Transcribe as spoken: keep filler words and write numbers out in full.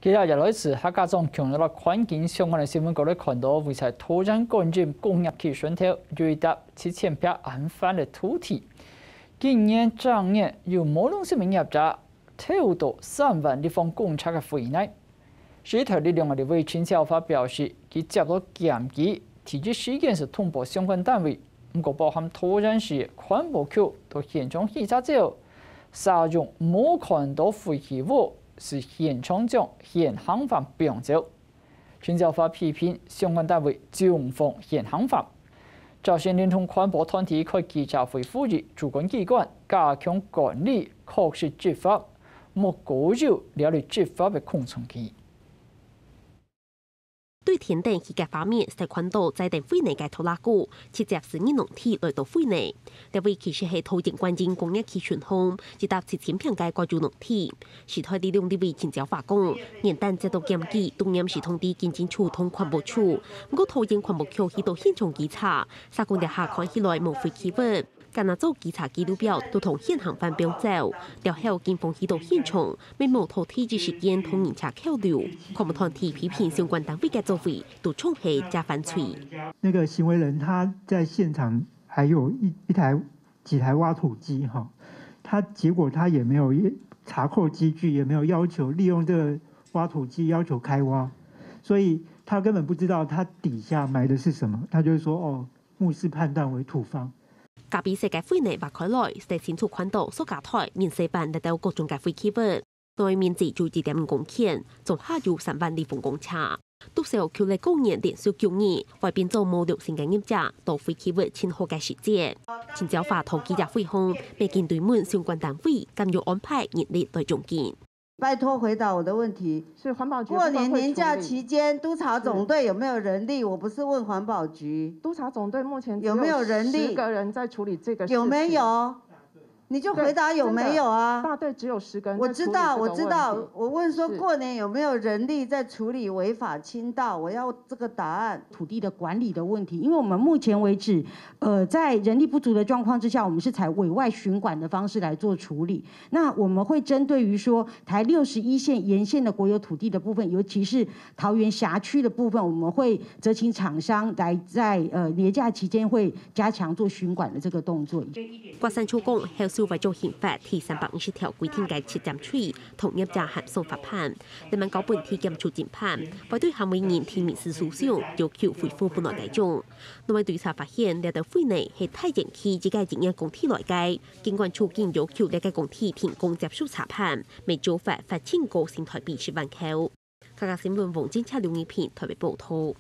接下來係客家庄強弱環境相關个新聞，各位看到位在桃園縣管制工業區脣頭，有一搭七千坪恁闊个土地，今年正月有無良心个業者偷到三萬立方公尺个肥泥。時代力量个立委陳椒華表示，佢接到檢舉，第一時間係通報相關單位，毋過包含桃園市環保局到現場稽查之後， 使用無看到廢棄物，係現場將現行犯放走。陳椒華批評相關單位縱放現行犯。朝鮮連同環保團體開記者會呼籲主管機關加強管理，確實執法，莫過有這類執法个空窗期。 對天頂起个畫面，係看到載等廢泥个拖拉庫，直接駛入農地來倒廢泥。這位其實係桃園管制工業區脣項，一搭七千坪个國有農地。時代力量立委陳椒華講，元旦接到檢舉，當然係通知警政署同環保署，毋過桃園環保局去到現場稽查，社工這下看起來無廢棄物。 敢若做稽查記錄表，都同現行犯放走。了後警方去到現場，乜無拖第一時間同人車扣留。環保團體批評相關單位个作為，都像係假犯罪。那個行為人他在現場還有一，一台，幾台挖土機哈，他結果他也沒有查扣機具，也沒有要求利用這個挖土機要求開挖，所以他根本不知道他底下埋的是什麼，他就是說，哦，目視判斷為土方。 隔壁細个廢泥挖開來，係清楚看到塑膠袋、面細板這兜各種个廢棄物。內面只有一點五公頃，總下有三萬立方公尺。都市區咧過年連續九日，會變做無良心个業者，倒廢棄物盡好个時節。陳椒華同記者會項，乜緊追問相關單位敢有安排人力來掌管。 拜託回答我的問題。是環保局部分會處理。過年年假期間，督察總隊有沒有人力？我不是問環保局。督察總隊目前只有有沒有人力？十個人在處理這個事情。有沒有？你就回答有沒有啊？對，真的，大隊只有十個人在處理這個問題。我知道，我知道。我問說，是。過年有沒有人力在處理違法傾倒？我要這個答案。土地的管理的問題，因為我們目前為止，呃，在人力不足的狀況之下，我們是採委外巡管的方式來做處理。 那我們會針對於說台六十一線沿線的國有土地的部分，尤其是桃園轄區的部分，我們會責請廠商來在，呃，年假期間會加強做巡管的這個動作。郭山秋講，後續會將刑法第三百五十條規定个七點七同業者函送法辦，另外交本地檢署偵辦，會對行為人提民事訴訟，要求回復本來該種。另外調查發現，這兜廢泥係大園區一個營業工地來个， 儘管處經要求這個工地停工接受查辦，乜照罰罰盡高新臺幣十萬箍。客家新聞黃金車、劉義平臺北報導。